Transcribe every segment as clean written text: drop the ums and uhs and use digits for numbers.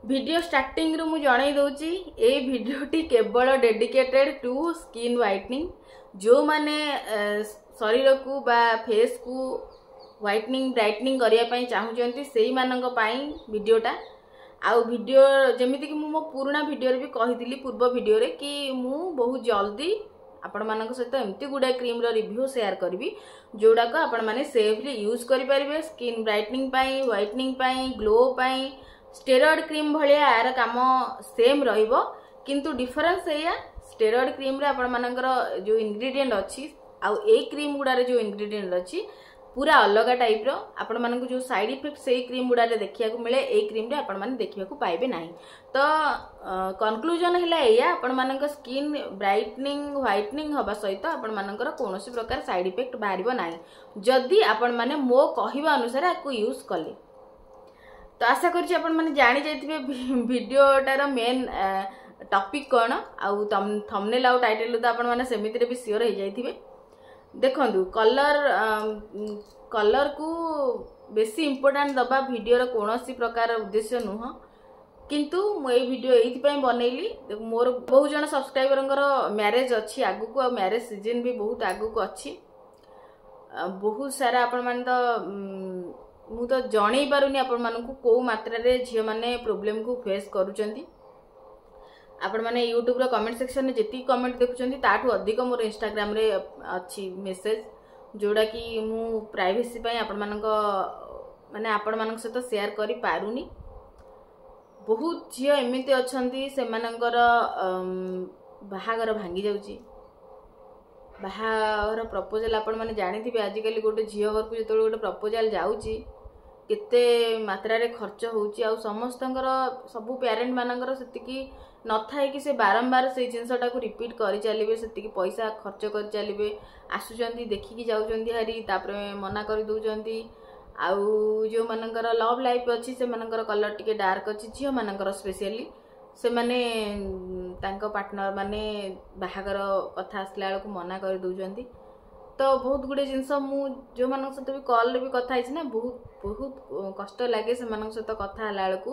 Video ଷ୍ଟାର୍ଟିଂରୁ ମୁଁ ଜଣେଇ ଦେଉଛି, ଏଇ ଭିଡ଼ିଓଟି କେବଳ ଡେଡିକେଟେଡ୍ ଟୁ ସ୍କିନ୍ ହ୍ୱାଇଟନିଂ। ଯେଉଁମାନେ ଶରୀରକୁ ବା ଫେସ୍କୁ ହ୍ୱାଇଟନିଂ, ବ୍ରାଇଟନିଂ କରିବା ପାଇଁ ଚାହୁଁଛନ୍ତି, ସେଇମାନଙ୍କ ପାଇଁ ଭିଡ଼ିଓଟା। ଆଉ ଭିଡ଼ିଓ ଯେମିତିକି ମୁଁ ମୋ ପୁରୁଣା ଭିଡ଼ିଓରେ ବି କହିଥିଲି, ପୂର୍ବ ଭିଡ଼ିଓରେ, କି ମୁଁ ବହୁତ ଜଲ୍ଦି ଆପଣମାନଙ୍କ ସହିତ ଏମିତି ଗୁଡ଼ାଏ କ୍ରିମ୍ର ରିଭ୍ୟୁ ସେୟାର କରିବି, ଯେଉଁଗୁଡ଼ାକ ଆପଣମାନେ ସେଫଲି ୟୁଜ୍ କରିପାରିବେ ସ୍କିନ୍ ବ୍ରାଇଟନିଂ ପାଇଁ, ହ୍ୱାଇଟନିଂ ପାଇଁ, ଗ୍ଲୋ ପାଇଁ। ଷ୍ଟେରଏଡ୍ କ୍ରିମ୍ ଭଳିଆ ଏହାର କାମ ସେମ୍ ରହିବ, କିନ୍ତୁ ଡିଫରେନ୍ସ ଏଇଆ, ଷ୍ଟେରଏଡ୍ କ୍ରିମ୍ରେ ଆପଣମାନଙ୍କର ଯେଉଁ ଇନଗ୍ରିଡ଼ିଏଣ୍ଟ ଅଛି ଆଉ ଏଇ କ୍ରିମ୍ ଗୁଡ଼ାରେ ଯେଉଁ ଇନଗ୍ରିଡ଼ିଏଣ୍ଟ ଅଛି ପୁରା ଅଲଗା ଟାଇପ୍ର। ଆପଣମାନଙ୍କୁ ଯେଉଁ ସାଇଡ୍ ଇଫେକ୍ଟ ସେଇ କ୍ରିମ୍ ଗୁଡ଼ାରେ ଦେଖିବାକୁ ମିଳେ, ଏଇ କ୍ରିମ୍ରେ ଆପଣମାନେ ଦେଖିବାକୁ ପାଇବେ ନାହିଁ। ତ କନକ୍ଲୁଜନ ହେଲା ଏଇଆ, ଆପଣମାନଙ୍କ ସ୍କିନ୍ ବ୍ରାଇଟନିଂ, ହ୍ୱାଇଟନିଂ ହେବା ସହିତ ଆପଣମାନଙ୍କର କୌଣସି ପ୍ରକାର ସାଇଡ୍ ଇଫେକ୍ଟ ବାହାରିବ ନାହିଁ, ଯଦି ଆପଣମାନେ ମୋ କହିବା ଅନୁସାରେ ଆକୁ ୟୁଜ୍ କଲେ। ତ ଆଶା କରୁଛି ଆପଣମାନେ ଜାଣି ଯାଇଥିବେ ଭିଡ଼ିଓଟାର ମେନ୍ ଟପିକ୍ କ'ଣ, ଆଉ ଥମ୍ବନେଲ୍ ଆଉ ଟାଇଟେଲ୍ ତ ଆପଣମାନେ ସେମିତିରେ ବି ସିଓର ହେଇଯାଇଥିବେ। ଦେଖନ୍ତୁ, କଲର୍କୁ ବେଶୀ ଇମ୍ପୋର୍ଟାଣ୍ଟ ଦେବା ଭିଡ଼ିଓର କୌଣସି ପ୍ରକାର ଉଦ୍ଦେଶ୍ୟ ନୁହଁ, କିନ୍ତୁ ମୁଁ ଏଇ ଭିଡ଼ିଓ ଏଇଥିପାଇଁ ବନେଇଲି, ମୋର ବହୁତ ଜଣ ସବସ୍କ୍ରାଇବରଙ୍କର ମ୍ୟାରେଜ୍ ଅଛି ଆଗକୁ, ଆଉ ମ୍ୟାରେଜ୍ ସିଜନ୍ ବି ବହୁତ ଆଗକୁ ଅଛି। ବହୁତ ସାରା ଆପଣମାନେ ତ, ମୁଁ ତ ଜଣେଇ ପାରୁନି ଆପଣମାନଙ୍କୁ କେଉଁ ମାତ୍ରାରେ ଝିଅମାନେ ପ୍ରୋବ୍ଲେମକୁ ଫେସ୍ କରୁଛନ୍ତି। ଆପଣମାନେ ୟୁଟ୍ୟୁବ୍ର କମେଣ୍ଟ ସେକ୍ସନରେ ଯେତିକି କମେଣ୍ଟ ଦେଖୁଛନ୍ତି, ତାଠୁ ଅଧିକ ମୋର ଇନଷ୍ଟାଗ୍ରାମରେ ଅଛି ମେସେଜ୍, ଯେଉଁଟାକି ମୁଁ ପ୍ରାଇଭେସି ପାଇଁ ଆପଣମାନଙ୍କ ମାନେ ଆପଣମାନଙ୍କ ସହିତ ସେୟାର କରିପାରୁନି। ବହୁତ ଝିଅ ଏମିତି ଅଛନ୍ତି, ସେମାନଙ୍କର ବାହାଘର ଭାଙ୍ଗି ଯାଉଛି। ବାହାଘର ପ୍ରପୋଜାଲ୍ ଆପଣମାନେ ଜାଣିଥିବେ, ଆଜିକାଲି ଗୋଟେ ଝିଅ ଘରକୁ ଯେତେବେଳେ ଗୋଟେ ପ୍ରପୋଜାଲ୍ ଯାଉଛି, କେତେ ମାତ୍ରାରେ ଖର୍ଚ୍ଚ ହେଉଛି। ଆଉ ସମସ୍ତଙ୍କର, ସବୁ ପ୍ୟାରେଣ୍ଟ ମାନଙ୍କର ସେତିକି ନଥାଏ କି ସେ ବାରମ୍ବାର ସେଇ ଜିନିଷଟାକୁ ରିପିଟ୍ କରିଚାଲିବେ, ସେତିକି ପଇସା ଖର୍ଚ୍ଚ କରିଚାଲିବେ। ଆସୁଛନ୍ତି, ଦେଖିକି ଯାଉଛନ୍ତି ହାରି, ତାପରେ ମନା କରିଦେଉଛନ୍ତି। ଆଉ ଯେଉଁମାନଙ୍କର ଲଭ୍ ଲାଇଫ୍ ଅଛି, ସେମାନଙ୍କର କଲର୍ ଟିକେ ଡାର୍କ ଅଛି, ଝିଅମାନଙ୍କର ସ୍ପେସିଆଲି, ସେମାନେ ତାଙ୍କ ପାର୍ଟନର ମାନେ ବାହାଘର କଥା ଆସିଲା ବେଳକୁ ମନା କରିଦେଉଛନ୍ତି। ତ ବହୁତ ଗୁଡ଼ିଏ ଜିନିଷ ମୁଁ ଯେଉଁମାନଙ୍କ ସହିତ ବି କଲ୍ରେ ବି କଥା ହେଇଛି ନା, ବହୁତ ବହୁତ କଷ୍ଟ ଲାଗେ ସେମାନଙ୍କ ସହିତ କଥା ହେଲା ବେଳକୁ,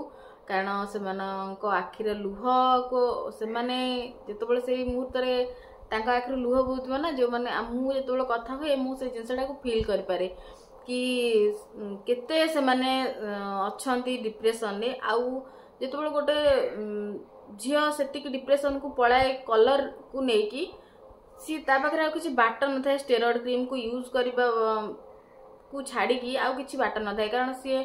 କାରଣ ସେମାନଙ୍କ ଆଖିର ଲୁହକୁ, ସେମାନେ ଯେତେବେଳେ ସେଇ ମୁହୂର୍ତ୍ତରେ ତାଙ୍କ ଆଖିରୁ ଲୁହ ବୋହୁଥିବ ନା, ଯେଉଁମାନେ ମୁଁ ଯେତେବେଳେ କଥା ହୁଏ, ମୁଁ ସେଇ ଜିନିଷଟାକୁ ଫିଲ୍ କରିପାରେ କି କେତେ ସେମାନେ ଅଛନ୍ତି ଡିପ୍ରେସନରେ। ଆଉ ଯେତେବେଳେ ଗୋଟେ ଝିଅ ସେତିକି ଡିପ୍ରେସନକୁ ପଳାଏ କଲର୍କୁ ନେଇକି, ସିଏ ତା ପାଖରେ ଆଉ କିଛି ବାଟ ନଥାଏ। ଷ୍ଟେରଏଡ୍ କ୍ରିମ୍କୁ ୟୁଜ୍ କରିବାକୁ ଛାଡ଼ିକି ଆଉ କିଛି ବାଟ ନଥାଏ, କାରଣ ସିଏ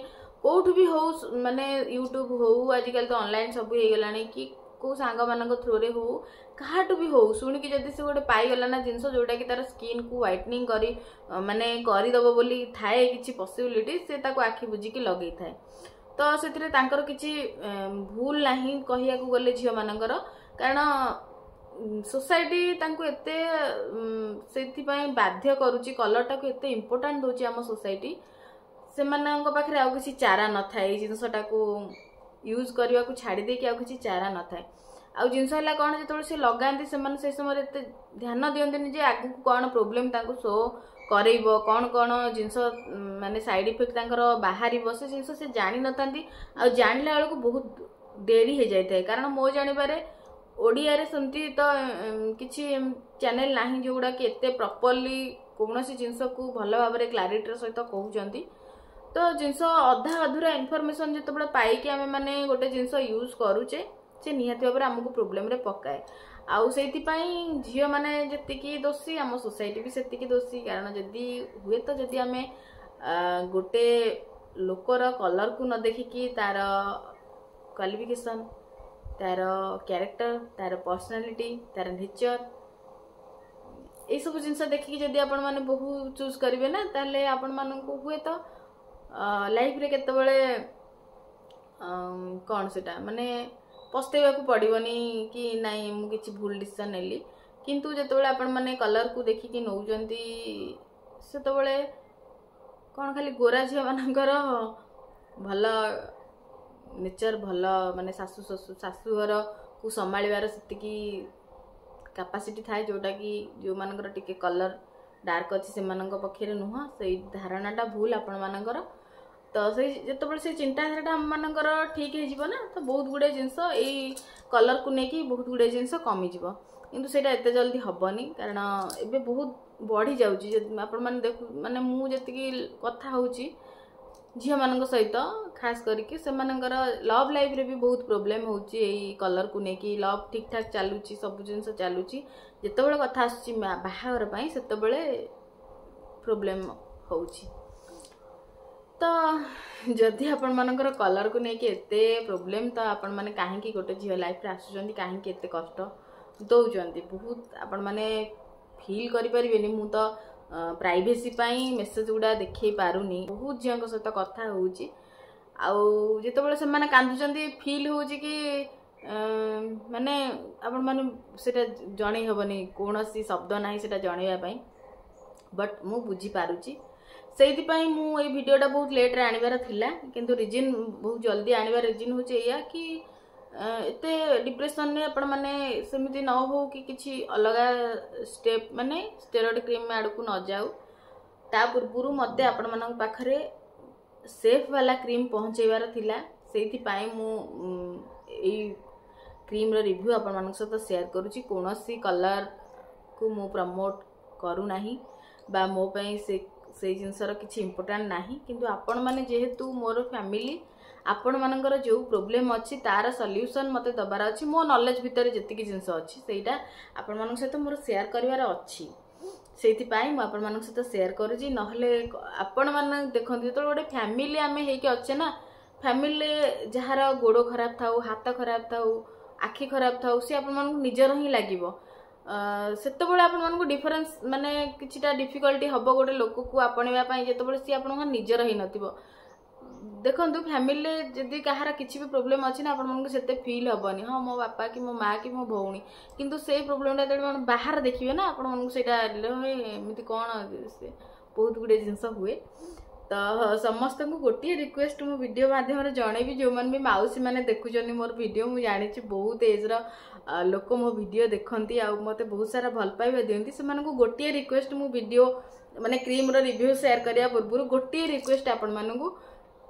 କେଉଁଠୁ ବି ହଉ, ମାନେ ୟୁଟ୍ୟୁବ୍ ହଉ, ଆଜିକାଲି ତ ଅନଲାଇନ୍ ସବୁ ହେଇଗଲାଣି, କି କେଉଁ ସାଙ୍ଗମାନଙ୍କ ଥ୍ରୋରେ ହଉ, କାହାଠୁ ବି ହଉ, ଶୁଣିକି ଯଦି ସେ ଗୋଟେ ପାଇଗଲା ନା ଜିନିଷ ଯେଉଁଟାକି ତାର ସ୍କିନ୍କୁ ହ୍ୱାଇଟନିଂ କରି ମାନେ କରିଦେବ ବୋଲି ଥାଏ କିଛି ପସିବିଲିଟି, ସେ ତାକୁ ଆଖି ବୁଜିକି ଲଗେଇଥାଏ। ତ ସେଥିରେ ତାଙ୍କର କିଛି ଭୁଲ ନାହିଁ କହିବାକୁ ଗଲେ ଝିଅମାନଙ୍କର, କାରଣ ସୋସାଇଟି ତାଙ୍କୁ ଏତେ ସେଥିପାଇଁ ବାଧ୍ୟ କରୁଛି। କଲର୍ଟାକୁ ଏତେ ଇମ୍ପୋର୍ଟାଣ୍ଟ ଦେଉଛି ଆମ ସୋସାଇଟି, ସେମାନଙ୍କ ପାଖରେ ଆଉ କିଛି ଚାରା ନଥାଏ। ଏଇ ଜିନିଷଟାକୁ ୟୁଜ୍ କରିବାକୁ ଛାଡ଼ି ଦେଇକି ଆଉ କିଛି ଚାରା ନଥାଏ। ଆଉ ଜିନିଷ ହେଲା କ'ଣ, ଯେତେବେଳେ ସେ ଲଗାନ୍ତି, ସେମାନେ ସେଇ ସମୟରେ ଏତେ ଧ୍ୟାନ ଦିଅନ୍ତିନି ଯେ ଆଗକୁ କ'ଣ ପ୍ରୋବ୍ଲେମ୍ ତାଙ୍କୁ ଶୋ କରେଇବ, କ'ଣ କ'ଣ ଜିନିଷ ମାନେ ସାଇଡ୍ ଇଫେକ୍ଟ ତାଙ୍କର ବାହାରିବ, ସେ ଜିନିଷ ସେ ଜାଣିନଥାନ୍ତି। ଆଉ ଜାଣିଲା ବେଳକୁ ବହୁତ ଡେରି ହେଇଯାଇଥାଏ, କାରଣ ମୋ ଜାଣିବାରେ ଓଡ଼ିଆରେ ସେମିତି ତ କିଛି ଚ୍ୟାନେଲ୍ ନାହିଁ ଯେଉଁଗୁଡ଼ାକି ଏତେ ପ୍ରପରଲି କୌଣସି ଜିନିଷକୁ ଭଲ ଭାବରେ କ୍ଲାରିଟିର ସହିତ କହୁଛନ୍ତି। ତ ଜିନିଷ ଅଧା ଅଧୁରା ଇନଫର୍ମେସନ୍ ଯେତେବେଳେ ପାଇକି ଆମେ ମାନେ ଗୋଟେ ଜିନିଷ ୟୁଜ୍ କରୁଛେ, ସେ ନିହାତି ଭାବରେ ଆମକୁ ପ୍ରୋବ୍ଲେମରେ ପକାଏ। ଆଉ ସେଇଥିପାଇଁ ଝିଅମାନେ ଯେତିକି ଦୋଷୀ, ଆମ ସୋସାଇଟି ବି ସେତିକି ଦୋଷୀ, କାରଣ ଯଦି ହୁଏତ ଯଦି ଆମେ ଗୋଟେ ଲୋକର କଲର୍କୁ ନ ଦେଖିକି ତାର କ୍ୱାଲିଫିକେସନ୍, ତାର କ୍ୟାରେକ୍ଟର, ତାର ପର୍ସନାଲିଟି, ତାର ନେଚର, ଏଇସବୁ ଜିନିଷ ଦେଖିକି ଯଦି ଆପଣମାନେ ବୋହୂ ଚୁଜ୍ କରିବେ ନା, ତାହେଲେ ଆପଣମାନଙ୍କୁ ହୁଏତ ଲାଇଫରେ କେତେବେଳେ କ'ଣ ସେଟା ମାନେ ପସ୍ତେଇବାକୁ ପଡ଼ିବନି କି ନାଇଁ, ମୁଁ କିଛି ଭୁଲ ଡିସିସନ୍ ନେଲି। କିନ୍ତୁ ଯେତେବେଳେ ଆପଣମାନେ କଲର୍କୁ ଦେଖିକି ନେଉଛନ୍ତି, ସେତେବେଳେ କ'ଣ ଖାଲି ଗୋରା ଝିଅମାନଙ୍କର ଭଲ ନେଚର, ଭଲ ମାନେ ଶାଶୁ ଶ୍ୱଶୁର ଶାଶୁଘରକୁ ସମ୍ଭାଳିବାର ସେତିକି କାପାସିଟି ଥାଏ, ଯେଉଁଟାକି ଯେଉଁମାନଙ୍କର ଟିକେ କଲର୍ ଡାର୍କ ଅଛି ସେମାନଙ୍କ ପକ୍ଷରେ ନୁହଁ। ସେଇ ଧାରଣାଟା ଭୁଲ ଆପଣମାନଙ୍କର। ତ ସେଇ ଯେତେବେଳେ ସେ ଚିନ୍ତାଧାରାଟା ଆମମାନଙ୍କର ଠିକ୍ ହେଇଯିବ ନା, ତ ବହୁତ ଗୁଡ଼ିଏ ଜିନିଷ ଏଇ କଲର୍କୁ ନେଇକି ବହୁତ ଗୁଡ଼ିଏ ଜିନିଷ କମିଯିବ। କିନ୍ତୁ ସେଇଟା ଏତେ ଜଲ୍ଦି ହେବନି, କାରଣ ଏବେ ବହୁତ ବଢ଼ି ଯାଉଛି। ଆପଣମାନେ ଦେଖୁ, ମାନେ ମୁଁ ଯେତିକି କଥା ହେଉଛି ଝିଅମାନଙ୍କ ସହିତ, ଖାସ କରିକି ସେମାନଙ୍କର ଲଭ୍ ଲାଇଫ୍ରେ ବି ବହୁତ ପ୍ରୋବ୍ଲେମ୍ ହେଉଛି ଏଇ କଲର୍କୁ ନେଇକି। ଲଭ୍ ଠିକ୍ ଠାକ୍ ଚାଲୁଛି, ସବୁ ଜିନିଷ ଚାଲୁଛି, ଯେତେବେଳେ କଥା ଆସୁଛି ବାହାଘର ପାଇଁ ସେତେବେଳେ ପ୍ରୋବ୍ଲେମ୍ ହେଉଛି। ତ ଯଦି ଆପଣମାନଙ୍କର କଲର୍କୁ ନେଇକି ଏତେ ପ୍ରୋବ୍ଲେମ୍, ତ ଆପଣମାନେ କାହିଁକି ଗୋଟେ ଝିଅ ଲାଇଫ୍ରେ ଆସୁଛନ୍ତି? କାହିଁକି ଏତେ କଷ୍ଟ ଦେଉଛନ୍ତି? ବହୁତ ଆପଣମାନେ ଫିଲ୍ କରିପାରିବେନି। ମୁଁ ତ ପ୍ରାଇଭେସି ପାଇଁ ମେସେଜ୍ ଗୁଡ଼ା ଦେଖେଇ ପାରୁନି। ବହୁତ ଝିଅଙ୍କ ସହିତ କଥା ହେଉଛି, ଆଉ ଯେତେବେଳେ ସେମାନେ କାନ୍ଦୁଛନ୍ତି ଫିଲ୍ ହେଉଛି କି ମାନେ ଆପଣମାନେ ସେଇଟା ଜଣେଇ ହେବନି, କୌଣସି ଶବ୍ଦ ନାହିଁ ସେଇଟା ଜଣେଇବା ପାଇଁ। ବଟ୍ ମୁଁ ବୁଝିପାରୁଛି। ସେଇଥିପାଇଁ ମୁଁ ଏଇ ଭିଡ଼ିଓଟା ବହୁତ ଲେଟ୍ରେ ଆଣିବାର ଥିଲା, କିନ୍ତୁ ରିଜିନ୍ ବହୁତ ଜଲ୍ଦି ଆଣିବାର ରିଜିନ୍ ହେଉଛି ଏଇଆ କି ଏତେ ଡିପ୍ରେସନରେ ଆପଣମାନେ ସେମିତି ନ ହଉ କି କିଛି ଅଲଗା ଷ୍ଟେପ୍, ମାନେ ଷ୍ଟେରଏଡ଼ କ୍ରିମ୍ ଆଡ଼କୁ ନ ଯାଉ, ତା ପୂର୍ବରୁ ମୋତେ ଆପଣମାନଙ୍କ ପାଖରେ ସେଫ୍ ବାଲା କ୍ରିମ୍ ପହଞ୍ଚେଇବାର ଥିଲା। ସେଇଥିପାଇଁ ମୁଁ ଏଇ କ୍ରିମ୍ର ରିଭ୍ୟୁ ଆପଣମାନଙ୍କ ସହିତ ସେୟାର କରୁଛି। କୌଣସି କଲର୍କୁ ମୁଁ ପ୍ରମୋଟ୍ କରୁନାହିଁ ବା ମୋ ପାଇଁ ସେ ସେଇ ଜିନିଷର କିଛି ଇମ୍ପୋର୍ଟାଣ୍ଟ ନାହିଁ, କିନ୍ତୁ ଆପଣମାନେ ଯେହେତୁ ମୋର ଫ୍ୟାମିଲି, ଆପଣମାନଙ୍କର ଯେଉଁ ପ୍ରୋବ୍ଲେମ୍ ଅଛି ତାର ସଲ୍ୟୁସନ୍ ମୋତେ ଦେବାର ଅଛି। ମୋ ନଲେଜ୍ ଭିତରେ ଯେତିକି ଜିନିଷ ଅଛି ସେଇଟା ଆପଣମାନଙ୍କ ସହିତ ମୋର ସେୟାର କରିବାର ଅଛି, ସେଇଥିପାଇଁ ମୁଁ ଆପଣମାନଙ୍କ ସହିତ ସେୟାର କରୁଛି। ନହେଲେ ଆପଣମାନେ ଦେଖନ୍ତୁ, ଯେତେବେଳେ ଗୋଟେ ଫ୍ୟାମିଲି ଆମେ ହେଇକି ଅଛେ ନା, ଫ୍ୟାମିଲିରେ ଯାହାର ଗୋଡ଼ ଖରାପ ଥାଉ, ହାତ ଖରାପ ଥାଉ, ଆଖି ଖରାପ ଥାଉ, ସିଏ ଆପଣମାନଙ୍କୁ ନିଜର ହିଁ ଲାଗିବ। ସେତେବେଳେ ଆପଣମାନଙ୍କୁ ଡିଫରେନ୍ସ, ମାନେ କିଛିଟା ଡିଫିକଲ୍ଟି ହେବ ଗୋଟେ ଲୋକକୁ ଆପଣେଇବା ପାଇଁ, ଯେତେବେଳେ ସିଏ ଆପଣଙ୍କ ନିଜର ହେଇନଥିବ। ଦେଖନ୍ତୁ, ଫ୍ୟାମିଲିରେ ଯଦି କାହାର କିଛି ବି ପ୍ରୋବ୍ଲେମ୍ ଅଛି ନା, ଆପଣମାନଙ୍କୁ ସେତେ ଫିଲ୍ ହେବନି, ହଁ ମୋ ବାପା କି ମୋ ମା କି ମୋ ଭଉଣୀ। କିନ୍ତୁ ସେଇ ପ୍ରୋବ୍ଲେମଟା ଯେତେବେଳେ ଆପଣ ବାହାରେ ଦେଖିବେ ନା, ଆପଣମାନଙ୍କୁ ସେଇଟା ଏମିତି କ'ଣ ସେ ବହୁତ ଗୁଡ଼ିଏ ଜିନିଷ ହୁଏ। ତ ସମସ୍ତଙ୍କୁ ଗୋଟିଏ ରିକ୍ୱେଷ୍ଟ ମୁଁ ଭିଡ଼ିଓ ମାଧ୍ୟମରେ ଜଣେଇବି, ଯେଉଁମାନେ ବି ମାଉସୀ ମାନେ ଦେଖୁଛନ୍ତି ମୋର ଭିଡ଼ିଓ, ମୁଁ ଜାଣିଛି ବହୁତ ଏଜ୍ର ଲୋକ ମୋ ଭିଡ଼ିଓ ଦେଖନ୍ତି ଆଉ ମୋତେ ବହୁତ ସାରା ଭଲ ପାଇବା ଦିଅନ୍ତି, ସେମାନଙ୍କୁ ଗୋଟିଏ ରିକ୍ୱେଷ୍ଟ, ମୁଁ ଭିଡ଼ିଓ ମାନେ କ୍ରିମ୍ର ରିଭ୍ୟୁ ସେୟାର କରିବା ପୂର୍ବରୁ ଗୋଟିଏ ରିକ୍ୱେଷ୍ଟ ଆପଣମାନଙ୍କୁ।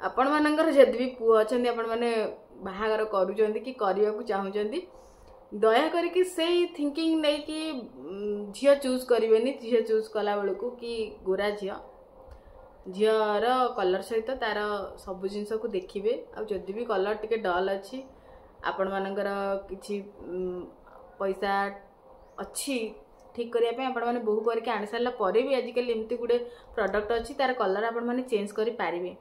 ଆପଣମାନଙ୍କର ଯଦି ବି ପୁଅ ଅଛନ୍ତି, ଆପଣମାନେ ବାହାଘର କରୁଛନ୍ତି କି କରିବାକୁ ଚାହୁଁଛନ୍ତି, ଦୟା କରିକି ସେଇ ଥିଙ୍କିଂ ନେଇକି ଝିଅ ଚୁଜ୍ କରିବେନି। ଝିଅ ଚୁଜ୍ କଲା ବେଳକୁ କି ଗୋରା ଝିଅ, ଝିଅର କଲର୍ ସହିତ ତାର ସବୁ ଜିନିଷକୁ ଦେଖିବେ। ଆଉ ଯଦି ବି କଲର୍ ଟିକେ ଡଲ୍ ଅଛି, ଆପଣମାନଙ୍କର କିଛି ପଇସା ଅଛି ଠିକ୍ କରିବା ପାଇଁ, ଆପଣମାନେ ବୋହୁ କରିକି ଆଣି ସାରିଲା ପରେ ବି ଆଜିକାଲି ଏମିତି ଗୁଡ଼େ ପ୍ରଡ଼କ୍ଟ ଅଛି, ତାର କଲର୍ ଆପଣମାନେ ଚେଞ୍ଜ କରିପାରିବେ।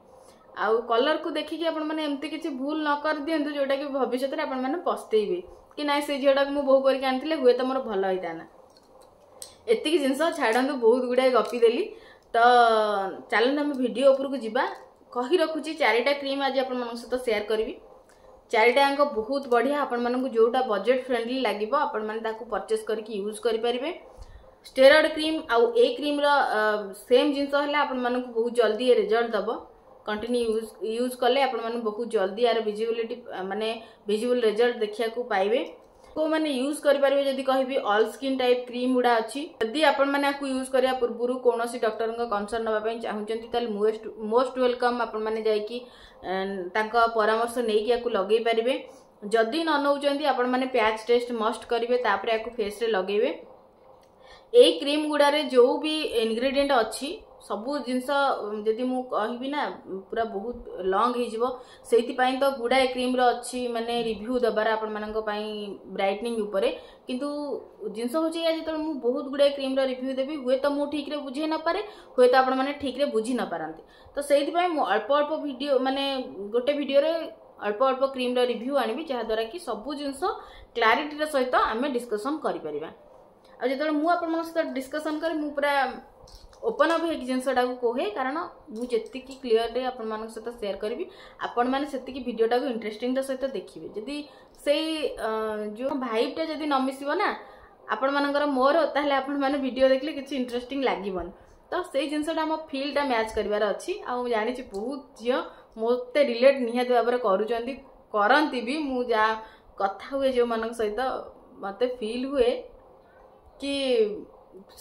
ଆଉ କଲର୍କୁ ଦେଖିକି ଆପଣମାନେ ଏମିତି କିଛି ଭୁଲ ନ କରିଦିଅନ୍ତୁ ଯେଉଁଟାକି ଭବିଷ୍ୟତରେ ଆପଣମାନେ ପସ୍ତେଇବେ କି ନାଇଁ, ସେ ଝିଅଟାକୁ ମୁଁ ବୋହୁ କରିକି ଆଣିଥିଲେ ହୁଏତ ମୋର ଭଲ ହେଇଥାନ୍ତା। ଏତିକି ଜିନିଷ ଛାଡ଼ନ୍ତୁ, ବହୁତ ଗୁଡ଼ାଏ ଗପି ଦେଲି। ତ ଚାଲନ୍ତୁ ଆମେ ଭିଡ଼ିଓ ଉପରକୁ ଯିବା। କହି ରଖୁଛି, 4ଟା କ୍ରିମ୍ ଆଜି ଆପଣମାନଙ୍କ ସହିତ ସେୟାର କରିବି। ଚାରିଟା ଯାକ ବହୁତ ବଢ଼ିଆ। ଆପଣମାନଙ୍କୁ ଯେଉଁଟା ବଜେଟ୍ ଫ୍ରେଣ୍ଡଲି ଲାଗିବ, ଆପଣମାନେ ତାକୁ ପରଚେସ୍ କରିକି ୟୁଜ୍ କରିପାରିବେ। ଷ୍ଟେରଏଡ଼ କ୍ରିମ୍ ଆଉ ଏଇ କ୍ରିମ୍ର ସେମ୍ ଜିନିଷ ହେଲା, ଆପଣମାନଙ୍କୁ ବହୁତ ଜଲ୍ଦି ଏ ରେଜଲ୍ଟ ଦେବ। କଣ୍ଟିନ୍ୟୁ ୟୁଜ୍ କଲେ ଆପଣମାନେ ବହୁତ ଜଲ୍ଦି ଆର ଭିଜିବିଲିଟି, ମାନେ ଭିଜିବୁଲ୍ ରେଜଲ୍ଟ ଦେଖିବାକୁ ପାଇବେ। କେଉଁମାନେ ୟୁଜ୍ କରିପାରିବେ ଯଦି କହିବି, ଅଲ୍ ସ୍କିନ୍ ଟାଇପ୍ କ୍ରିମ୍ ଗୁଡ଼ା ଅଛି। ଯଦି ଆପଣମାନେ ଆକୁ ୟୁଜ୍ କରିବା ପୂର୍ବରୁ କୌଣସି ଡକ୍ଟରଙ୍କ କନସଲ୍ଟ ନେବା ପାଇଁ ଚାହୁଁଛନ୍ତି, ତାହେଲେ ମୋଷ୍ଟ welcome, ଆପଣମାନେ ଯାଇକି ତାଙ୍କ ପରାମର୍ଶ ନେଇକି ଆକୁ ଲଗେଇ ପାରିବେ। ଯଦି ନ ନେଉଛନ୍ତି, ଆପଣମାନେ ପ୍ୟାଚ୍ ଟେଷ୍ଟ ମଷ୍ଟ କରିବେ, ତାପରେ ଆକୁ ଫେସ୍ରେ ଲଗେଇବେ। ଏଇ କ୍ରିମ୍ ଗୁଡ଼ାରେ ଯେଉଁ ବି ଇନଗ୍ରିଡ଼ିଏଣ୍ଟ ଅଛି, ସବୁ ଜିନିଷ ଯଦି ମୁଁ କହିବି ନା ପୁରା ବହୁତ ଲଙ୍ଗ ହେଇଯିବ। ସେଇଥିପାଇଁ ତ ଗୁଡ଼ାଏ କ୍ରିମ୍ର ଅଛି ମାନେ ରିଭ୍ୟୁ ଦେବାର ଆପଣମାନଙ୍କ ପାଇଁ ବ୍ରାଇଟନିଂ ଉପରେ। କିନ୍ତୁ ଜିନିଷ ହେଉଛି ଏଇଆ, ଯେତେବେଳେ ମୁଁ ବହୁତ ଗୁଡ଼ାଏ କ୍ରିମ୍ର ରିଭ୍ୟୁ ଦେବି, ହୁଏତ ମୁଁ ଠିକ୍ରେ ବୁଝେଇ ନପାରେ, ହୁଏତ ଆପଣମାନେ ଠିକ୍ରେ ବୁଝି ନପାରନ୍ତି। ତ ସେଇଥିପାଇଁ ମୁଁ ଅଳ୍ପ ଅଳ୍ପ ଭିଡ଼ିଓ, ମାନେ ଗୋଟେ ଭିଡ଼ିଓରେ ଅଳ୍ପ ଅଳ୍ପ କ୍ରିମ୍ର ରିଭ୍ୟୁ ଆଣିବି, ଯାହାଦ୍ୱାରା କି ସବୁ ଜିନିଷ କ୍ଲାରିଟିର ସହିତ ଆମେ ଡିସ୍କସନ୍ କରିପାରିବା। ଆଉ ଯେତେବେଳେ ମୁଁ ଆପଣମାନଙ୍କ ସହିତ ଡିସ୍କସନ୍ କରେ, ମୁଁ ପୁରା ଓପନ୍ ଅପ୍ ହେଇକି ଜିନିଷଟାକୁ କୁହେ, କାରଣ ମୁଁ ଯେତିକି କ୍ଲିଅରଲି ଆପଣମାନଙ୍କ ସହିତ ସେୟାର କରିବି, ଆପଣମାନେ ସେତିକି ଭିଡ଼ିଓଟାକୁ ଇଣ୍ଟରେଷ୍ଟିଂର ସହିତ ଦେଖିବେ। ଯଦି ସେଇ ଯେଉଁ ଭାଇବ୍ଟା ଯଦି ନ ମିଶିବ ନା ଆପଣମାନଙ୍କର ମୋର, ତାହେଲେ ଆପଣମାନେ ଭିଡ଼ିଓ ଦେଖିଲେ କିଛି ଇଣ୍ଟରେଷ୍ଟିଂ ଲାଗିବନି। ତ ସେଇ ଜିନିଷଟା ଆମ ଫିଲ୍ଟା ମ୍ୟାଚ୍ କରିବାର ଅଛି। ଆଉ ମୁଁ ଜାଣିଛି ବହୁତ ଝିଅ ମୋତେ ରିଲେଟ୍ ନିହାତି ଭାବରେ କରୁଛନ୍ତି, କରନ୍ତି ବି। ମୁଁ ଯାହା କଥା ହୁଏ ଯେଉଁମାନଙ୍କ ସହିତ, ମୋତେ ଫିଲ୍ ହୁଏ କି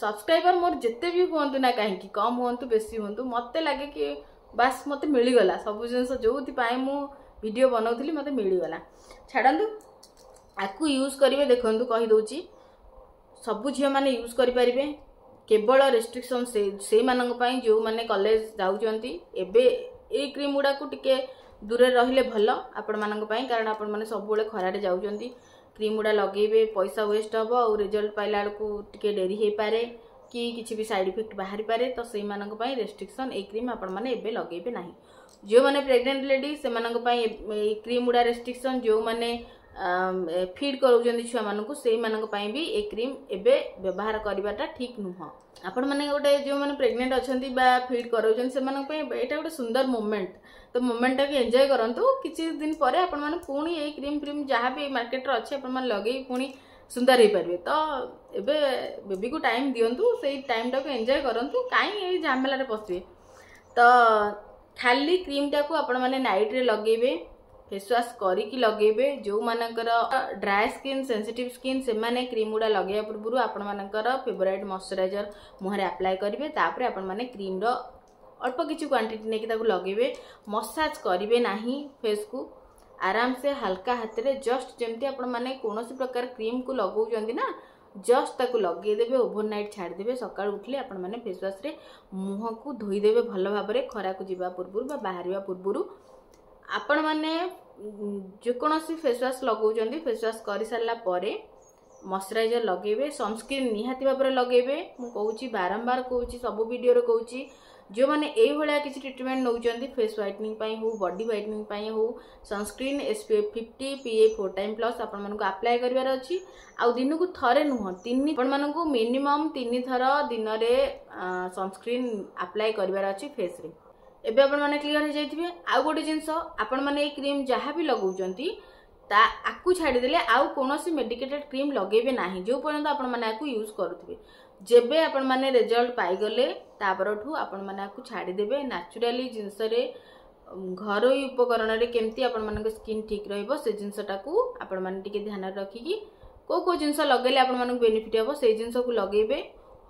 ସବସ୍କ୍ରାଇବର ମୋର ଯେତେ ବି ହୁଅନ୍ତୁ ନା କାହିଁକି, କମ୍ ହୁଅନ୍ତୁ ବେଶୀ ହୁଅନ୍ତୁ, ମୋତେ ଲାଗେ କି ବାସ୍, ମୋତେ ମିଳିଗଲା ସବୁ ଜିନିଷ ଯେଉଁଥିପାଇଁ ମୁଁ ଭିଡ଼ିଓ ବନାଉଥିଲି, ମୋତେ ମିଳିଗଲା। ଛାଡ଼ନ୍ତୁ, ଆକୁ ୟୁଜ୍ କରିବେ। ଦେଖନ୍ତୁ, କହିଦେଉଛି, ସବୁ ଝିଅମାନେ ୟୁଜ୍ କରିପାରିବେ। କେବଳ ରେଷ୍ଟ୍ରିକ୍ସନ୍ ସେଇମାନଙ୍କ ପାଇଁ ଯେଉଁମାନେ କଲେଜ ଯାଉଛନ୍ତି। ଏବେ ଏଇ କ୍ରିମ୍ ଗୁଡ଼ାକୁ ଟିକେ ଦୂରରେ ରହିଲେ ଭଲ ଆପଣମାନଙ୍କ ପାଇଁ, କାରଣ ଆପଣମାନେ ସବୁବେଳେ ଖରାରେ ଯାଉଛନ୍ତି। କ୍ରିମ୍ ଗୁଡ଼ା ଲଗେଇବେ, ପଇସା ୱେଷ୍ଟ ହେବ ଆଉ ରେଜଲ୍ଟ ପାଇଲା ବେଳକୁ ଟିକେ ଡେରି ହେଇପାରେ କି କିଛି ବି ସାଇଡ଼୍ ଇଫେକ୍ଟ ବାହାରିପାରେ। ତ ସେଇମାନଙ୍କ ପାଇଁ ରେଷ୍ଟ୍ରିକ୍ସନ୍, ଏଇ କ୍ରିମ୍ ଆପଣମାନେ ଏବେ ଲଗେଇବେ ନାହିଁ। ଯେଉଁମାନେ ପ୍ରେଗନେଣ୍ଟ ଲେଡି, ସେମାନଙ୍କ ପାଇଁ ଏଇ କ୍ରିମ୍ ଗୁଡ଼ା ରେଷ୍ଟ୍ରିକ୍ସନ୍। ଯେଉଁମାନେ ଫିଡ୍ କରାଉଛନ୍ତି ଛୁଆମାନଙ୍କୁ, ସେଇମାନଙ୍କ ପାଇଁ ବି ଏ କ୍ରିମ୍ ଏବେ ବ୍ୟବହାର କରିବାଟା ଠିକ୍ ନୁହଁ। ଆପଣମାନେ ଗୋଟେ ଯେଉଁମାନେ ପ୍ରେଗନେଣ୍ଟ ଅଛନ୍ତି ବା ଫିଡ୍ କରାଉଛନ୍ତି, ସେମାନଙ୍କ ପାଇଁ ଏଇଟା ଗୋଟେ ସୁନ୍ଦର ମୋମେଣ୍ଟ। ତ ମୋମେଣ୍ଟଟାକୁ ଏନ୍ଜୟ କରନ୍ତୁ। କିଛି ଦିନ ପରେ ଆପଣମାନେ ପୁଣି ଏଇ କ୍ରିମ୍ ଫ୍ରିମ୍ ଯାହା ବି ମାର୍କେଟରେ ଅଛି, ଆପଣମାନେ ଲଗେଇ ପୁଣି ସୁନ୍ଦର ହେଇପାରିବେ। ତ ଏବେ ବେବିକୁ ଟାଇମ୍ ଦିଅନ୍ତୁ, ସେଇ ଟାଇମ୍ଟାକୁ ଏନ୍ଜୟ କରନ୍ତୁ। କାହିଁ ଏଇ ଝାମେଲାରେ ପଶିବେ? ତ ଖାଲି କ୍ରିମ୍ଟାକୁ ଆପଣମାନେ ନାଇଟ୍ରେ ଲଗେଇବେ, ଫେସ୍ ୱାଶ୍ କରିକି ଲଗେଇବେ। ଯେଉଁମାନଙ୍କର ଡ୍ରାଏ ସ୍କିନ୍, ସେନ୍ସିଟିଭ୍ ସ୍କିନ୍, ସେମାନେ କ୍ରିମ୍ ଗୁଡ଼ା ଲଗେଇବା ପୂର୍ବରୁ ଆପଣମାନଙ୍କର ଫେଭରାଇଟ୍ ମଶ୍ଚରାଇଜର ମୁହଁରେ ଆପ୍ଲାଏ କରିବେ। ତାପରେ ଆପଣମାନେ କ୍ରିମ୍ର ଅଳ୍ପ କିଛି କ୍ୱାଣ୍ଟିଟି ନେଇକି ତାକୁ ଲଗେଇବେ। ମସାଜ କରିବେ ନାହିଁ ଫେସ୍କୁ। ଆରାମସେ ହାଲକା ହାତରେ, ଜଷ୍ଟ ଯେମିତି ଆପଣମାନେ କୌଣସି ପ୍ରକାର କ୍ରିମ୍କୁ ଲଗାଉଛନ୍ତି ନା, ଜଷ୍ଟ ତାକୁ ଲଗେଇଦେବେ, ଓଭର ନାଇଟ୍ ଛାଡ଼ିଦେବେ। ସକାଳୁ ଉଠିଲେ ଆପଣମାନେ ଫେସ୍ ୱାଶ୍ରେ ମୁହଁକୁ ଧୋଇଦେବେ ଭଲ ଭାବରେ, ଖରାକୁ ଯିବା ପୂର୍ବରୁ ବା ବାହାରିବା ପୂର୍ବରୁ। ଆପଣମାନେ ଯେକୌଣସି ଫେସ୍ ୱାଶ୍ ଲଗାଉଛନ୍ତି, ଫେସ୍ ୱାଶ୍ କରିସାରିଲା ପରେ ମଶ୍ଚରାଇଜର ଲଗେଇବେ, ସନସ୍କ୍ରିନ୍ ନିହାତି ଭାବରେ ଲଗେଇବେ। ମୁଁ କହୁଛି, ବାରମ୍ବାର କହୁଛି, ସବୁ ଭିଡ଼ିଓରେ କହୁଛି, ଯେଉଁମାନେ ଏଇଭଳିଆ କିଛି ଟ୍ରିଟମେଣ୍ଟ ନେଉଛନ୍ତି, ଫେସ୍ ହ୍ୱାଇଟନିଂ ପାଇଁ ହଉ, ବଡି ହ୍ୱାଇଟନିଂ ପାଇଁ ହଉ, sunscreen SPF 50, PA 4 time plus ଆପଣମାନଙ୍କୁ ଆପ୍ଲାଏ କରିବାର ଅଛି। ଆଉ ଦିନକୁ ଥରେ ନୁହଁ, ତିନି ଆପଣମାନଙ୍କୁ ମିନିମମ୍ 3 ଥର ଦିନରେ ସନସ୍କ୍ରିନ୍ ଆପ୍ଲାଏ କରିବାର ଅଛି ଫେସ୍ରେ। ଏବେ ଆପଣମାନେ କ୍ଲିଅର ହେଇଯାଇଥିବେ। ଆଉ ଗୋଟେ ଜିନିଷ, ଆପଣମାନେ ଏଇ କ୍ରିମ୍ ଯାହା ବି ଲଗାଉଛନ୍ତି, ତା ଆକୁ ଛାଡ଼ିଦେଲେ ଆଉ କୌଣସି ମେଡିକେଟେଡ୍ କ୍ରିମ୍ ଲଗେଇବେ ନାହିଁ, ଯେଉଁ ପର୍ଯ୍ୟନ୍ତ ଆପଣମାନେ ଆକୁ ୟୁଜ୍ କରୁଥିବେ। ଯେବେ ଆପଣମାନେ ରେଜଲ୍ଟ ପାଇଗଲେ, ତାପରଠୁ ଆପଣମାନେ ଆକୁ ଛାଡ଼ିଦେବେ। ନ୍ୟାଚୁରାଲି ଜିନିଷରେ, ଘରୋଇ ଉପକରଣରେ କେମିତି ଆପଣମାନଙ୍କ ସ୍କିନ୍ ଠିକ୍ ରହିବ, ସେ ଜିନିଷଟାକୁ ଆପଣମାନେ ଟିକେ ଧ୍ୟାନରେ ରଖିକି କେଉଁ କେଉଁ ଜିନିଷ ଲଗେଇଲେ ଆପଣମାନଙ୍କୁ ବେନିଫିଟ୍ ହେବ, ସେଇ ଜିନିଷକୁ ଲଗେଇବେ।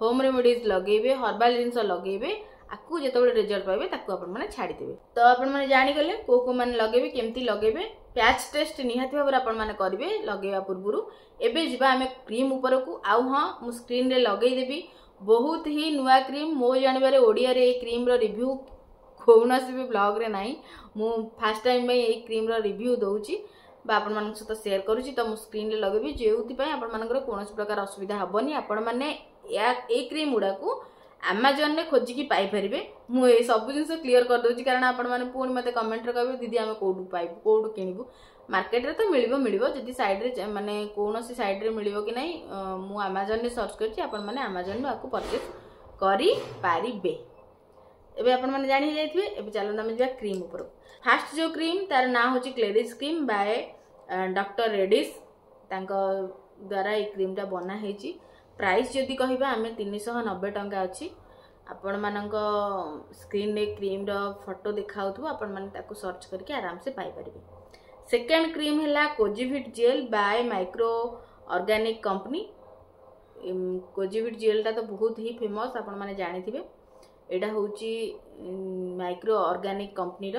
ହୋମ୍ ରେମିଡ଼ିଜ୍ ଲଗେଇବେ, ହର୍ବାଲ ଜିନିଷ ଲଗେଇବେ। ଆକୁ ଯେତେବେଳେ ରେଜଲ୍ଟ ପାଇବେ, ତାକୁ ଆପଣମାନେ ଛାଡ଼ିଦେବେ। ତ ଆପଣମାନେ ଜାଣିଗଲେ କେଉଁ କେଉଁମାନେ ଲଗେଇବେ, କେମିତି ଲଗେଇବେ। ପ୍ୟାଚ୍ ଟେଷ୍ଟ ନିହାତି ଭାବରେ ଆପଣମାନେ କରିବେ ଲଗେଇବା ପୂର୍ବରୁ। ଏବେ ଯିବା ଆମେ କ୍ରିମ୍ ଉପରକୁ। ଆଉ ହଁ, ମୁଁ ସ୍କ୍ରିନ୍ରେ ଲଗେଇଦେବି। ବହୁତ ହି ନୂଆ କ୍ରିମ୍। ମୋ ଜାଣିବାରେ ଓଡ଼ିଆରେ ଏଇ କ୍ରିମ୍ର ରିଭ୍ୟୁ କୌଣସି ବି ବ୍ଲଗ୍ରେ ନାହିଁ। ମୁଁ ଫାର୍ଷ୍ଟ ଟାଇମ୍ ପାଇଁ ଏଇ କ୍ରିମ୍ର ରିଭ୍ୟୁ ଦେଉଛି ବା ଆପଣମାନଙ୍କ ସହିତ ସେୟାର କରୁଛି। ତ ମୁଁ ସ୍କ୍ରିନ୍ରେ ଲଗେଇବି, ଯେଉଁଥିପାଇଁ ଆପଣମାନଙ୍କର କୌଣସି ପ୍ରକାର ଅସୁବିଧା ହେବନି। ଆପଣମାନେ ଏଇ କ୍ରିମ୍ ଗୁଡ଼ାକୁ ଆମାଜନରେ ଖୋଜିକି ପାଇପାରିବେ। ମୁଁ ଏ ସବୁ ଜିନିଷ କ୍ଲିୟର କରିଦେଉଛି, କାରଣ ଆପଣମାନେ ପୁଣି ମୋତେ କମେଣ୍ଟରେ କହିବେ, ଦିଦି, ଆମେ କେଉଁଠୁ ପାଇବୁ, କେଉଁଠୁ କିଣିବୁ? ମାର୍କେଟରେ ତ ମିଳିବ ମିଳିବ, ଯଦି ସାଇଡ଼୍ରେ ମାନେ କୌଣସି ସାଇଡ଼୍ରେ ମିଳିବ କି ନାହିଁ। ମୁଁ ଆମାଜନରେ ସର୍ଚ୍ଚ କରିଛି, ଆପଣମାନେ ଆମାଜନରୁ ଆକୁ ପରଚେସ୍ କରିପାରିବେ। ଏବେ ଆପଣମାନେ ଜାଣି ହେଇଯାଇଥିବେ। ଏବେ ଚାଲନ୍ତୁ ଆମେ ଯିବା କ୍ରିମ୍ ଉପରକୁ। ଫାର୍ଷ୍ଟ ଯେଉଁ କ୍ରିମ୍, ତାର ନାଁ ହେଉଛି କ୍ଲେରିଜ୍ କ୍ରିମ୍ ବାଏ ଡକ୍ଟର ରେଡିସ୍। ତାଙ୍କ ଦ୍ୱାରା ଏଇ କ୍ରିମ୍ଟା ବନା ହେଇଛି। ପ୍ରାଇସ୍ ଯଦି କହିବା ଆମେ, 390 ଟଙ୍କା ଅଛି। ଆପଣମାନଙ୍କ ସ୍କ୍ରିନ୍ରେ କ୍ରିମ୍ର ଫଟୋ ଦେଖାଉଥିବ, ଆପଣମାନେ ତାକୁ ସର୍ଚ୍ଚ କରିକି ଆରାମସେ ପାଇପାରିବେ। ସେକେଣ୍ଡ କ୍ରିମ୍ ହେଲା Kojivit gel by micro organic company. Kojivit ଜେଲ୍ଟା ତ ବହୁତ ହି ଫେମସ୍, ଆପଣମାନେ ଜାଣିଥିବେ। ଏଇଟା ହେଉଛି ମାଇକ୍ରୋ ଅର୍ଗାନିକ୍ କମ୍ପାନୀର।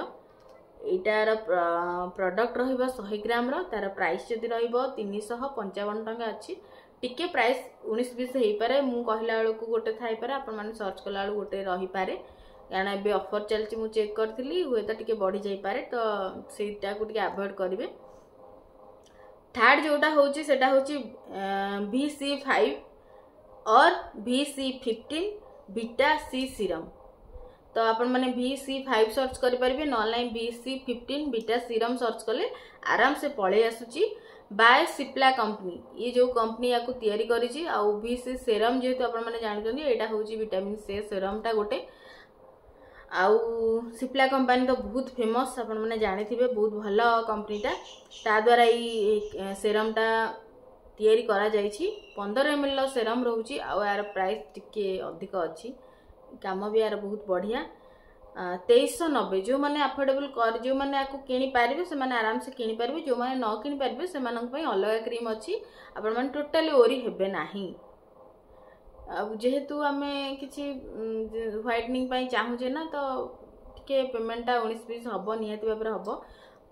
ଏଇଟାର ପ୍ରଡ଼କ୍ଟ ରହିବ 100 ଗ୍ରାମର। ତାର ପ୍ରାଇସ୍ ଯଦି ରହିବ, 355 ଟଙ୍କା ଅଛି। ଟିକେ ପ୍ରାଇସ୍ 19 20 ହେଇପାରେ। ମୁଁ କହିଲା ବେଳକୁ ଗୋଟେ ଥାଇପାରେ, ଆପଣମାନେ ସର୍ଚ୍ଚ କଲା ବେଳକୁ ଗୋଟେ ରହିପାରେ, କାରଣ ଏବେ ଅଫର୍ ଚାଲିଛି, ମୁଁ ଚେକ୍ କରିଥିଲି। ହୁଏତ ଟିକେ ବଢ଼ି ଯାଇପାରେ, ତ ସେଇଟାକୁ ଟିକେ ଆଭଏଡ଼ କରିବେ। ଥାର୍ଡ ଯେଉଁଟା ହେଉଛି, ସେଟା ହେଉଛି VC5 or VC15 Vita C serum. ତ ଆପଣମାନେ VC5 search କରିପାରିବେ, ନହେଲେ ନାହିଁ VC15 Vita serum search କଲେ ଆରାମସେ ପଳେଇ ଆସୁଛି। ବାୟ ସିପ୍ଲା କମ୍ପାନୀ, ଇଏ ଯେଉଁ କମ୍ପାନୀ ୟାକୁ ତିଆରି କରିଛି। ଆଉ ଭି ସି ସେରମ୍ ଯେହେତୁ ଆପଣମାନେ ଜାଣୁଛନ୍ତି, ଏଇଟା ହେଉଛି ଭିଟାମିନ୍ ସି ସେରମ୍ଟା ଗୋଟେ। ଆଉ ସିପ୍ଲା କମ୍ପାନୀ ତ ବହୁତ ଫେମସ୍, ଆପଣମାନେ ଜାଣିଥିବେ, ବହୁତ ଭଲ କମ୍ପାନୀଟା। ତା ଦ୍ୱାରା ଏଇ ସେରମ୍ଟା ତିଆରି କରାଯାଇଛି। 15 ଏମ୍ଏଲ୍ର ସେରମ୍ ରହୁଛି ଆଉ ଏହାର ପ୍ରାଇସ୍ ଟିକେ ଅଧିକ ଅଛି। କାମ ବି ଏହାର ବହୁତ ବଢ଼ିଆ। 2390। ଯେଉଁମାନେ ଆଫୋର୍ଡେବଲ୍ କରି, ଯେଉଁମାନେ ଆକୁ କିଣିପାରିବେ, ସେମାନେ ଆରାମସେ କିଣିପାରିବେ। ଯେଉଁମାନେ ନ କିଣିପାରିବେ, ସେମାନଙ୍କ ପାଇଁ ଅଲଗା କ୍ରିମ୍ ଅଛି। ଆପଣମାନେ ଟୋଟାଲି ୱରି ହେବେ ନାହିଁ। ଆଉ ଯେହେତୁ ଆମେ କିଛି ହ୍ୱାଇଟନିଂ ପାଇଁ ଚାହୁଁଛେ ନା, ତ ଟିକେ ଟିକେ ପେମେଣ୍ଟଟା 19-20 ହେବ, ନିହାତି ଭାବରେ ହେବ।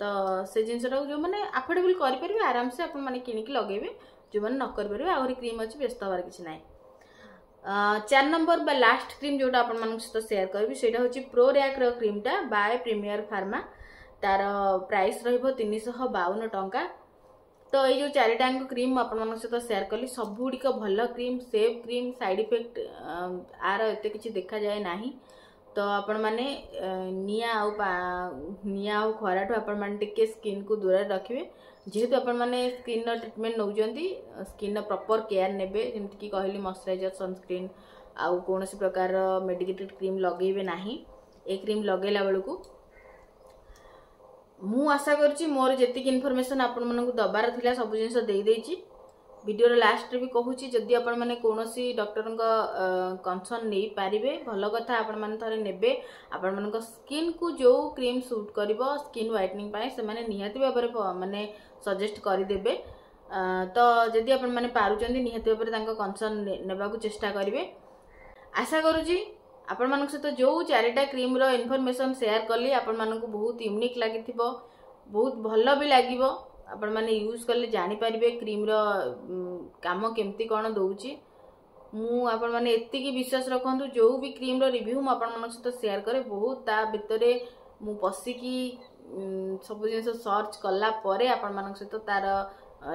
ତ ସେ ଜିନିଷଟାକୁ ଯେଉଁମାନେ ଆଫୋର୍ଡେବଲ୍ କରିପାରିବେ, ଆରାମସେ ଆପଣମାନେ କିଣିକି ଲଗେଇବେ। ଯେଉଁମାନେ ନ କରିପାରିବେ, ଆହୁରି କ୍ରିମ୍ ଅଛି, ବ୍ୟସ୍ତ ହେବାର କିଛି ନାହିଁ। 4 ନମ୍ବର ବା ଲାଷ୍ଟ କ୍ରିମ୍ ଯେଉଁଟା ଆପଣମାନଙ୍କ ସହିତ ସେୟାର କରିବି, ସେଇଟା ହେଉଛି ପ୍ରୋ ର୍ୟାକ୍ର କ୍ରିମ୍ଟା ବାୟ ପ୍ରିମିୟର ଫାର୍ମା। ତାର ପ୍ରାଇସ୍ ରହିବ 352 ଟଙ୍କା। ତ ଏଇ ଯେଉଁ ଚାରିଟାଙ୍କ କ୍ରିମ୍ ମୁଁ ଆପଣମାନଙ୍କ ସହିତ ସେୟାର କଲି, ସବୁଗୁଡ଼ିକ ଭଲ cream, safe cream, side effect ଆର ଏତେ କିଛି ଦେଖାଯାଏ ନାହିଁ। ତ ଆପଣମାନେ ନିଆଁ ଆଉ ଖରାଠୁ ଆପଣମାନେ ଟିକେ ସ୍କିନ୍କୁ ଦୂରରେ ରଖିବେ। ଯେହେତୁ ଆପଣମାନେ ସ୍କିନ୍ର ଟ୍ରିଟମେଣ୍ଟ ନେଉଛନ୍ତି, ସ୍କିନ୍ର ପ୍ରପର୍ କେୟାର ନେବେ। ଯେମିତିକି କହିଲି, ମଶ୍ଚରାଇଜର୍, ସନସ୍କ୍ରିନ୍ ଆଉ କୌଣସି ପ୍ରକାରର ମେଡ଼ିକେଟେଡ଼ କ୍ରିମ୍ ଲଗେଇବେ ନାହିଁ ଏ କ୍ରିମ୍ ଲଗେଇଲା ବେଳକୁ। ମୁଁ ଆଶା କରୁଛି ମୋର ଯେତିକି ଇନଫର୍ମେସନ୍ ଆପଣମାନଙ୍କୁ ଦେବାର ଥିଲା, ସବୁ ଜିନିଷ ଦେଇଦେଇଛି। ଭିଡ଼ିଓର ଲାଷ୍ଟରେ ବି କହୁଛି, ଯଦି ଆପଣମାନେ କୌଣସି ଡକ୍ଟରଙ୍କ କନସର୍ନ ନେଇପାରିବେ, ଭଲ କଥା। ଆପଣମାନେ ଥରେ ନେବେ, ଆପଣମାନଙ୍କ ସ୍କିନ୍କୁ ଯେଉଁ କ୍ରିମ୍ ସୁଟ୍ କରିବ ସ୍କିନ୍ ହ୍ୱାଇଟନିଂ ପାଇଁ, ସେମାନେ ନିହାତି ଭାବରେ ମାନେ ସଜେଷ୍ଟ କରିଦେବେ। ତ ଯଦି ଆପଣମାନେ ପାରୁଛନ୍ତି, ନିହାତି ଭାବରେ ତାଙ୍କ କନସର୍ନ ନେବାକୁ ଚେଷ୍ଟା କରିବେ। ଆଶା କରୁଛି ଆପଣମାନଙ୍କ ସହିତ ଯେଉଁ ଚାରିଟା କ୍ରିମ୍ର ଇନଫର୍ମେସନ୍ ସେୟାର କଲି, ଆପଣମାନଙ୍କୁ ବହୁତ ୟୁନିକ୍ ଲାଗିଥିବ, ବହୁତ ଭଲ ବି ଲାଗିବ। ଆପଣମାନେ ୟୁଜ୍ କଲେ ଜାଣିପାରିବେ କ୍ରିମ୍ର କାମ କେମିତି କ'ଣ ଦେଉଛି। ମୁଁ ଆପଣମାନେ ଏତିକି ବିଶ୍ୱାସ ରଖନ୍ତୁ, ଯେଉଁ ବି କ୍ରିମ୍ର ରିଭ୍ୟୁ ମୁଁ ଆପଣମାନଙ୍କ ସହିତ ସେୟାର କରେ, ବହୁତ ତା ଭିତରେ ମୁଁ ପଶିକି ସବୁ ଜିନିଷ ସର୍ଚ୍ଚ କଲା ପରେ ଆପଣମାନଙ୍କ ସହିତ ତାର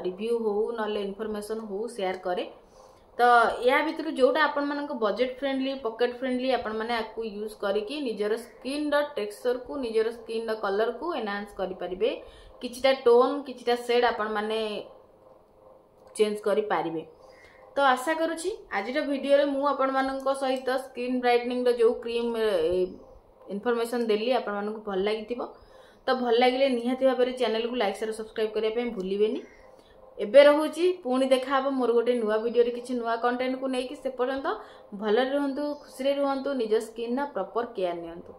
ରିଭ୍ୟୁ ହଉ ନହେଲେ ଇନଫର୍ମେସନ୍ ହଉ ସେୟାର କରେ। ତ ୟା ଭିତରୁ ଯେଉଁଟା ଆପଣମାନଙ୍କ ବଜେଟ୍ ଫ୍ରେଣ୍ଡଲି, ପକେଟ୍ ଫ୍ରେଣ୍ଡଲି, ଆପଣମାନେ ଆକୁ ୟୁଜ୍ କରିକି ନିଜର ସ୍କିନ୍ର ଟେକ୍ସଚରକୁ, ନିଜର ସ୍କିନ୍ର କଲର୍କୁ ଏନହାନ୍ସ କରିପାରିବେ। କିଛିଟା ଟୋନ୍, କିଛିଟା ସେଡ୍ ଆପଣମାନେ ଚେଞ୍ଜ କରିପାରିବେ। ତ ଆଶା କରୁଛି ଆଜିର ଭିଡ଼ିଓରେ ମୁଁ ଆପଣମାନଙ୍କ ସହିତ ସ୍କିନ୍ ବ୍ରାଇଟନିଂର ଯେଉଁ କ୍ରିମ୍ ଇନଫର୍ମେସନ୍ ଦେଲି, ଆପଣମାନଙ୍କୁ ଭଲ ଲାଗିଥିବ। ତ ଭଲ ଲାଗିଲେ ନିହାତି ଭାବରେ ଚ୍ୟାନେଲକୁ ଲାଇକ୍, ସେୟାର, ସବସ୍କ୍ରାଇବ୍ କରିବା ପାଇଁ ଭୁଲିବେନି। ଏବେ ରହୁଛି, ପୁଣି ଦେଖାହେବ ମୋର ଗୋଟେ ନୂଆ ଭିଡ଼ିଓରେ କିଛି ନୂଆ କଣ୍ଟେଣ୍ଟକୁ ନେଇକି। ସେ ପର୍ଯ୍ୟନ୍ତ ଭଲରେ ରୁହନ୍ତୁ, ଖୁସିରେ ରୁହନ୍ତୁ, ନିଜ ସ୍କିନ୍ର ପ୍ରପର୍ କେୟାର ନିଅନ୍ତୁ।